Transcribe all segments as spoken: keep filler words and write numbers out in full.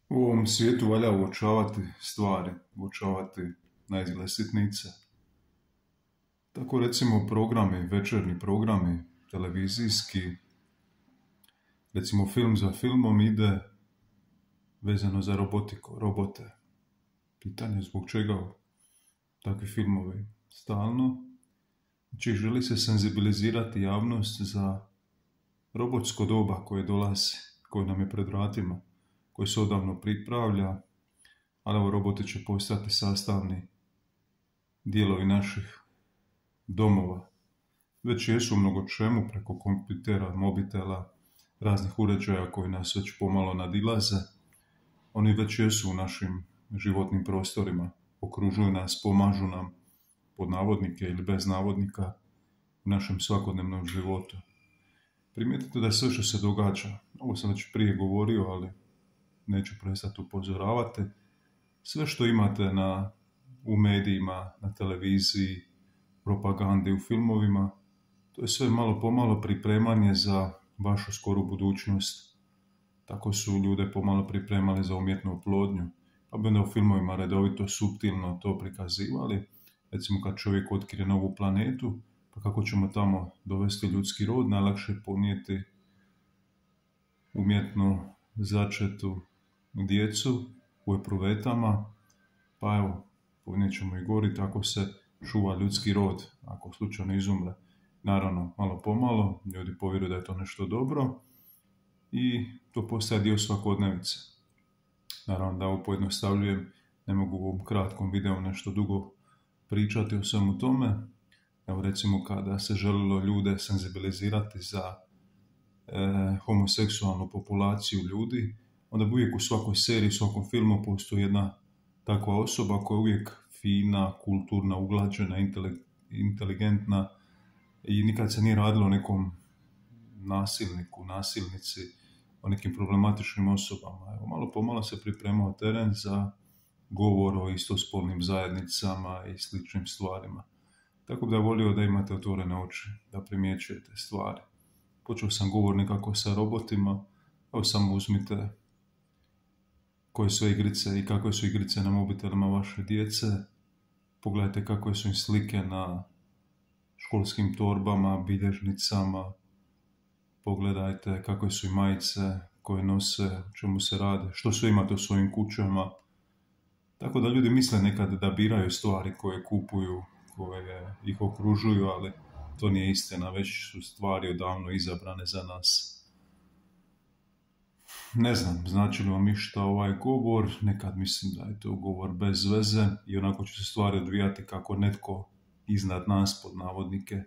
U ovom svijetu valja uočavati stvari, uočavati naizgled sitnice. Tako recimo programi, večernji programi, televizijski, recimo film za filmom ide vezano za robotiku, robote. Pitanje zbog čega takvi filmovi stalno. Znači želi se senzibilizirati javnost za robotsko doba koje dolazi, koje nam je pred vratima, koje se odavno pripravlja, ali ovo roboti će postati sastavni dijelovi naših domova. Već jesu u mnogo čemu preko kompjutera, mobitela, raznih uređaja koji nas već pomalo nadilaze. Oni već jesu u našim životnim prostorima, okružuju nas, pomažu nam, pod navodnike ili bez navodnika, u našem svakodnevnom životu. Primijetite da sve što se događa, ovo sam već prije govorio, ali neću prestati upozoravati, sve što imate na, u medijima, na televiziji, propagandi, u filmovima, to je sve malo pomalo pripremanje za vašu skoru budućnost. Tako su ljude pomalo pripremali za umjetnu oplodnju, pa bi onda u filmovima redovito suptilno to prikazivali. Recimo kad čovjek otkrije novu planetu, pa kako ćemo tamo dovesti ljudski rod, najlakše je ponijeti umjetno začetu djecu u epruvetama, pa evo, ponijet ćemo i gori, tako se čuva ljudski rod, ako slučajno izumre. Naravno, malo pomalo, ljudi povjeruju da je to nešto dobro i to postaje dio svakodnevice. Naravno da ovo pojednostavljujem, ne mogu u ovom kratkom videu nešto dugo pričati o svemu tome. Evo recimo kada se želilo ljude senzibilizirati za e, homoseksualnu populaciju ljudi, onda bi uvijek u svakoj seriji, u svakom filmu postoji jedna takva osoba koja je uvijek fina, kulturna, uglađena, inteligentna i nikad se nije radilo o nekom nasilniku, nasilnici, o nekim problematičnim osobama. Evo, malo pomalo se pripremao teren za govor o istospolnim zajednicama i sličnim stvarima. Tako da volio da imate otvorene oči, da primjećujete stvari. Počeo sam govor nekako sa robotima, evo samo uzmite koje su igrice i kakve su igrice na mobitelima vaše djece. Pogledajte kakve su im slike na školskim torbama, bilježnicama. Pogledajte kakve su im majice koje nose, o čemu se rade, što sve imate u svojim kućama. Tako da ljudi misle nekad da biraju stvari koje kupuju, koje ih okružuju, ali to nije istina, već su stvari odavno izabrane za nas. Ne znam, znači li vam išta ovaj govor, nekad mislim da je to govor bez veze i onako će se stvari odvijati kako netko iznad nas, pod navodnike,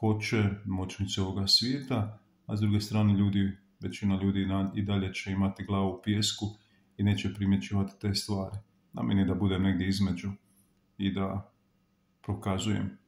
hoće, moćnici ovoga svijeta, a s druge strane ljudi, većina ljudi i dalje će imati glavu u pijesku i neće primjećivati te stvari. Na meni da budem negdje između i da prokazujem